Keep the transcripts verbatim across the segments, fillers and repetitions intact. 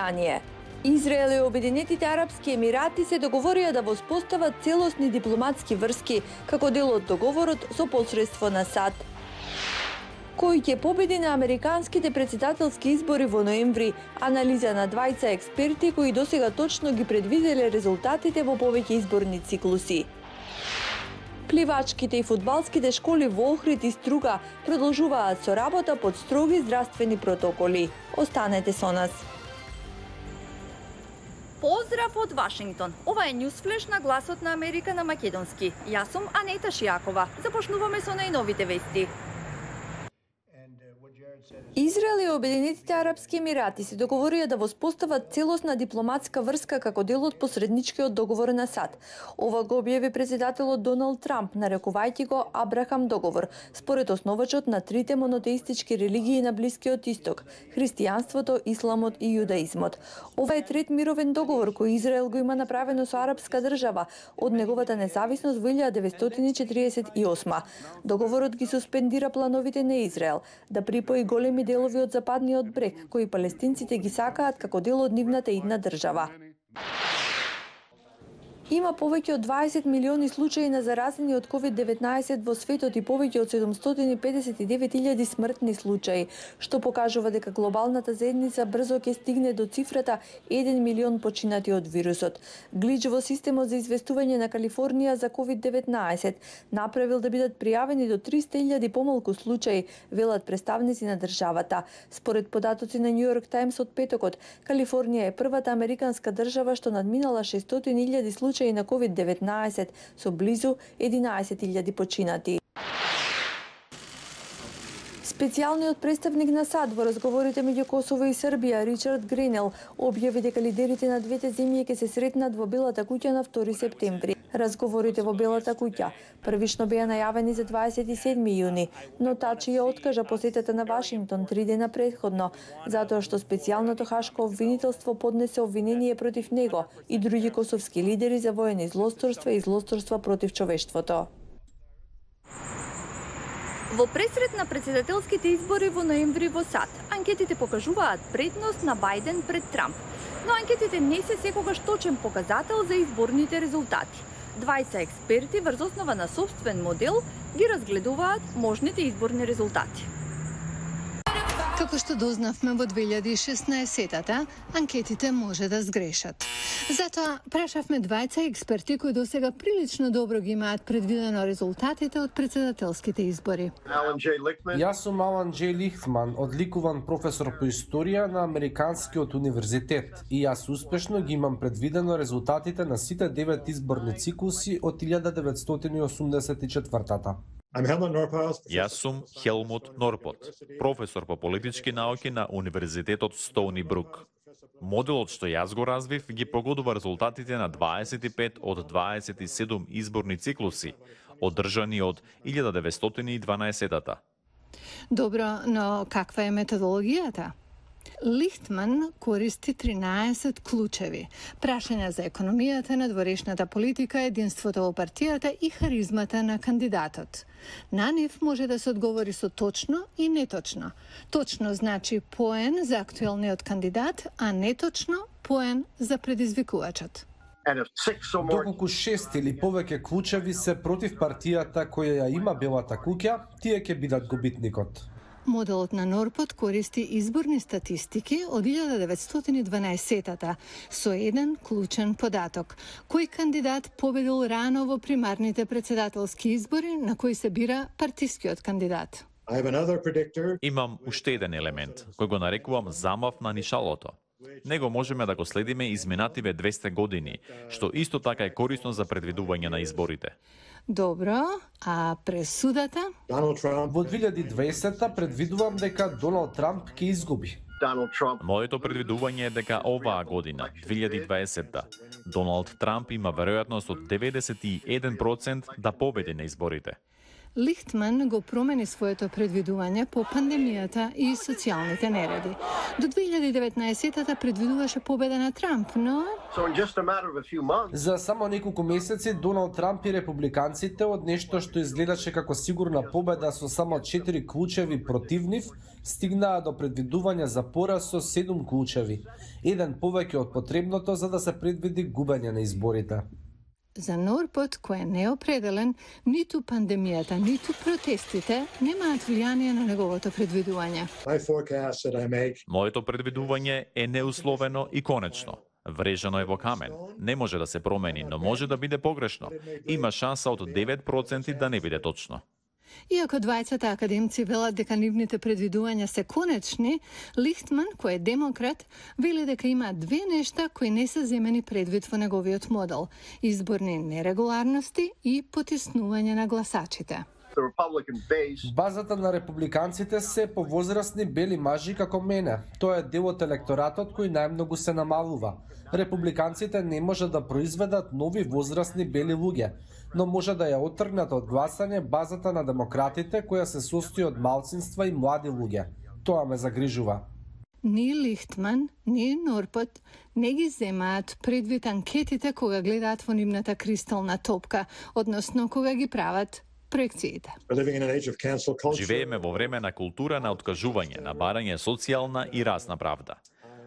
Великобританија. Израел и Обединетите арапски емирати се договорија да воспостават целосни дипломатски врски како дел од договорот со посредство на САД. Кој ќе победи на американските претседателски избори во ноември? Анализа на двајца експерти кои досега точно ги предвиделе резултатите во повеќе изборни циклуси. Пливачките и фудбалските школи во Охрид и Струга продолжуваат со работа под строги здравствени протоколи. Останете со нас. Поздрав од Вашингтон. Ова е Ньюсфлеш на гласот на Америка на македонски. Јас сум Анета Шијакова. Започнуваме со најновите вести. Израел и Обединетите арапски емирати се договорија да воспостават целосна дипломатска врска како дел од посредничкиот договор на САД. Ова го објави претседателот Доналд Трамп, нарекувајќи го Абрахам договор, според основачот на трите монотеистички религии на Блискиот Исток – христијанството, исламот и јудаизмот. Ова е трет мировен договор кој Израел го има направено со арапска држава од неговата независност во илјада деветстотини и четиридесет и осма. Договорот ги суспендира плановите на Израел да припои големи делови од западниот брег, кои палестинците ги сакаат како дел од нивната идна држава. Има повеќе од дваесет милиони случаи на заразени од ковид деветнаесет во светот и повеќе од седумстотини и педесет и девет илјади смртни случаи, што покажува дека глобалната заедница брзо ќе стигне до цифрата еден милион починати од вирусот. Глич во системот за известување на Калифорнија за ковид деветнаесет направил да бидат пријавени до триста илјади помалку случаи, велат представници на државата. Според податоци на Нью Йорк Таймс од петокот, Калифорнија е првата американска држава што надминала шестстотини илјади случаи на ковид деветнаесет со близу единаесет илјади починати. Специјалниот представник на САД во разговорите меѓу Косово и Србија, Ричард Гренел, објави дека лидерите на двете земји ќе се сретнат во Белата куќа на втори септември. Разговорите во Белата куќа првично беа најавени за дваесет и седми јуни, но Тачи ја откажа посетата на Вашингтон три дена претходно, затоа што специјалното хашко обвинителство поднесе обвинение против него и други косовски лидери за воени злосторства и злосторства против човештвото. Во пресрет на претседателските избори во ноември во САД, анкетите покажуваат предност на Бајден пред Трамп, но анкетите не се секогаш точен показател за изборните резултати. Двајца експерти врз основа на сопствен модел ги разгледуваат можните изборни резултати. Како што дознавме во две илјади и шеснаесетата, анкетите може да сгрешат. Затоа прашавме двајца експерти кои досега прилично добро ги имаат предвидено резултатите од претседателските избори. Јас сум Алан Џеј Лихтман, одликуван професор по историја на Американскиот универзитет, и јас успешно ги имам предвидено резултатите на сите девет изборни циклуси од илјада деветстотини и осумдесет и четвртата. Јас сум Хелмут Норпот, професор по политички науки на Универзитетот Стоуни Брук. Моделот што јас го развив ги погодува резултатите на дваесет и пет од дваесет и седум изборни циклуси, одржани од илјада деветстотини и дванаесетата. Добро, но каква е методологијата? Лихтман користи тринаесет клучеви: прашања за економијата, надворешната политика, единството во партијата и харизмата на кандидатот. На нив може да се одговори со точно и неточно. Точно значи поен за актуелниот кандидат, а неточно поен за предизвикувачот. Доколку шест или повеќе клучеви се против партијата која ја има Белата куќа, тие ќе бидат губитникот. Моделот на Норпот користи изборни статистики од илјада деветстотини и дванаесетата со еден клучен податок. Кој кандидат победил рано во примарните претседателски избори на кои се бира партискиот кандидат? Имам уште еден елемент, кој го нарекувам замав на нишалото. Него можеме да го следиме изминативе двесте години, што исто така е корисно за предвидување на изборите. Добро, а пресудата? Во две илјади и дваесетта предвидувам дека Доналд Трамп ќе изгуби. Моето предвидување е дека оваа година, две илјади и дваесетта, Доналд Трамп има веројатност од деветдесет и еден процент да победи на изборите. Лихтман го промени своето предвидување по пандемијата и социјалните нереди. До две илјади и деветнаесетта предвидуваше победа на Трамп, но За само неколку месеци Доналд Трамп и републиканците од нешто што изгледаше како сигурна победа со само четири клучеви против нив, стигнаа до предвидување за пораз со седум клучеви, еден повеќе од потребното за да се предвиди губење на изборите. За Норпот, кој е неопределен, ниту пандемијата, ниту протестите немаат влијание на неговото предвидување. Моето предвидување е неусловено и конечно. Врежано е во камен. Не може да се промени, но може да биде погрешно. Има шанса од девет проценти да не биде точно. Иако двајцата академци велат дека нивните предвидувања се конечни, Лихтман, кој е демократ, вели дека има две нешта кои не се земени предвид во неговиот модел: изборни нерегуларности и потиснување на гласачите. Базата на републиканците се повозрасни бели мажи како мене. Тоа е дел од електоратот кој најмногу се намалува. Републиканците не може да произведат нови возрасни бели луѓе, но може да ја оттргнат од гласање базата на демократите која се состои од малцинства и млади луѓе. Тоа ме загрижува. Ни Лихтман, ни Норпот не ги земаат предвид анкетите кога гледаат во нивната кристална топка, односно кога ги прават проекциите. Живееме во време на култура на откажување, на барање социјална и расна правда.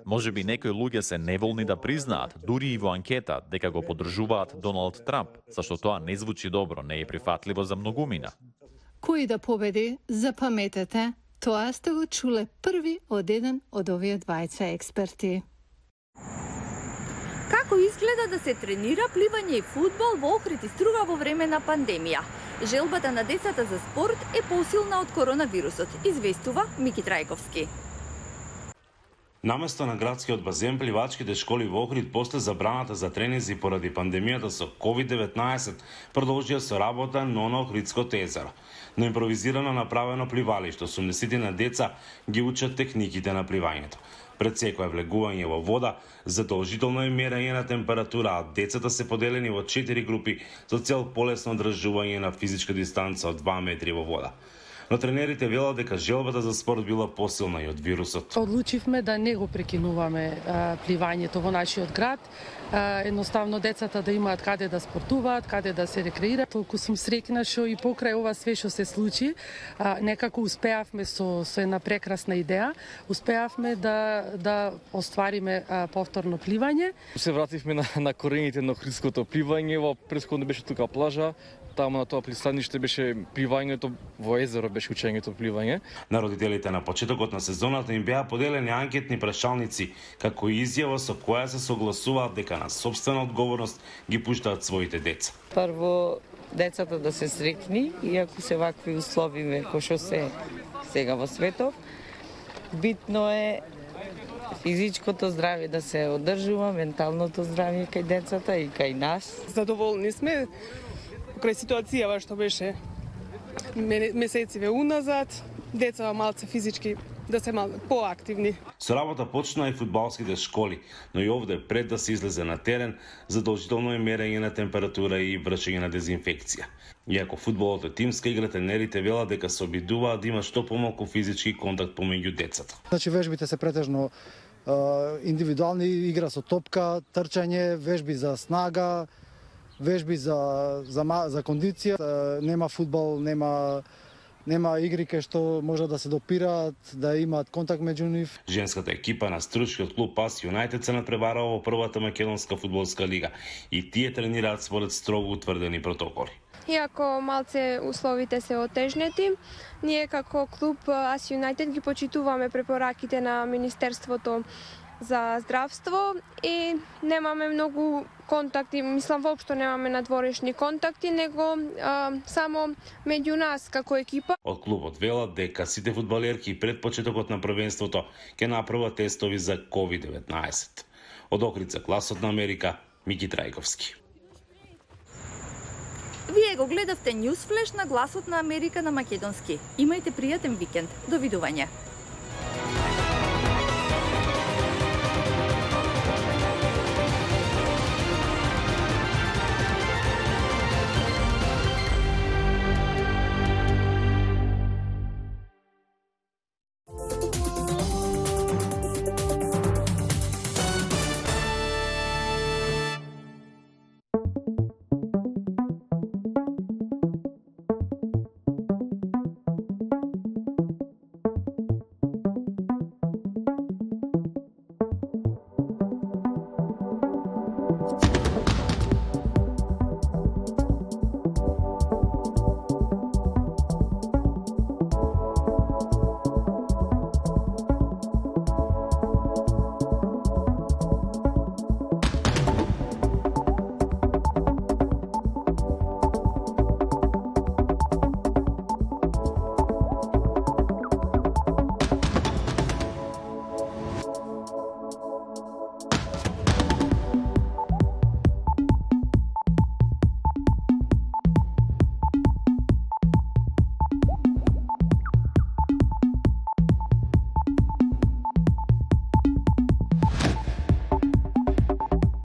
Може би некои луѓе се неволни да признаат, дури и во анкета, дека го поддржуваат Доналд Трамп, зашто тоа не звучи добро, не е прифатливо за многумина. Кој да победи, запаметете, тоа сте го чуле први од еден од овие двајца експерти. Како изгледа да се тренира пливање и фудбал во Охрид и Струга во време на пандемија? Желбата на децата за спорт е посилна од коронавирусот, известува Мики Трајковски. Наместо на градскиот базен, пливачките школи во Охрид после забраната за тренинзи поради пандемијата со ковид деветнаесет продолжија со работа но на Охридското езеро. На импровизирано направено пливалиште, осумдесет на деца ги учат техниките на пливањето. Пред секое влегување во вода, задолжително е мерење на температура, а децата се поделени во четири групи со цел полесно одржување на физичка дистанца од два метри во вода. Но тренерите велат дека желбата за спорт била посилна и од вирусот. Одлучивме да не го прекинуваме а, пливањето во нашиот град. А, едноставно децата да имаат каде да спортуваат, каде да се рекреираат. Толку сум среќна што и покрај ова све што се случи, а, некако успеавме со, со една прекрасна идеја, успеавме да да оствариме а, повторно пливање. Се вративме на, на корените на охридското пливање, во претходно беше тука плажа. Таму на тоа пристаниште беше пливањето, во езеро беше учењето пливање. На родителите на почетокот на сезоната им беа поделени анкетни прашалници, како и изјава со која се согласуваат дека на сопствена одговорност ги пуштаат своите деца. Прво, децата да се среќни, иако се вакви услови кои што се сега во светот. Битно е физичкото здравје да се одржува, менталното здравје кај децата и кај нас. Задоволни сме крај ситуацијава што беше месециве уназад, деца малце физички да се мал поактивни. Со работа почнаа и фудбалските школи, но и овде пред да се излезе на терен, задолжително е мерење на температура и вршење на дезинфекција. Иако фудбалот е тимска игра, тренерите велат дека се обидуваат да има што помалку физички контакт помеѓу децата. Значи вежбите се претежно индивидуални, игра со топка, трчање, вежби за снага, вежби за за за кондиција, нема фудбал, нема нема игри кај што може да се допираат, да имаат контакт меѓу нив. Женската екипа на стручкиот клуб Пас Юнајтед се надпреварува во првата македонска фудбалска лига и тие тренираат според строго утврдени протоколи. Иако малце условите се отежнети, ние како клуб Ас Юнајтед ги почитуваме препораките на Министерството за здравство и немаме многу контакти, мислам воопшто немаме надворешни контакти, него а, само меѓу нас како екипа. Од клубот велат дека сите фудбалерки пред почетокот на првенството ќе направат тестови за ковид деветнаесет. Од Охрид, гласот на Америка, Мики Трајковски. Вие го гледавте Ньюсфлеш на гласот на Америка на македонски. Имајте пријатен викенд. Довидување.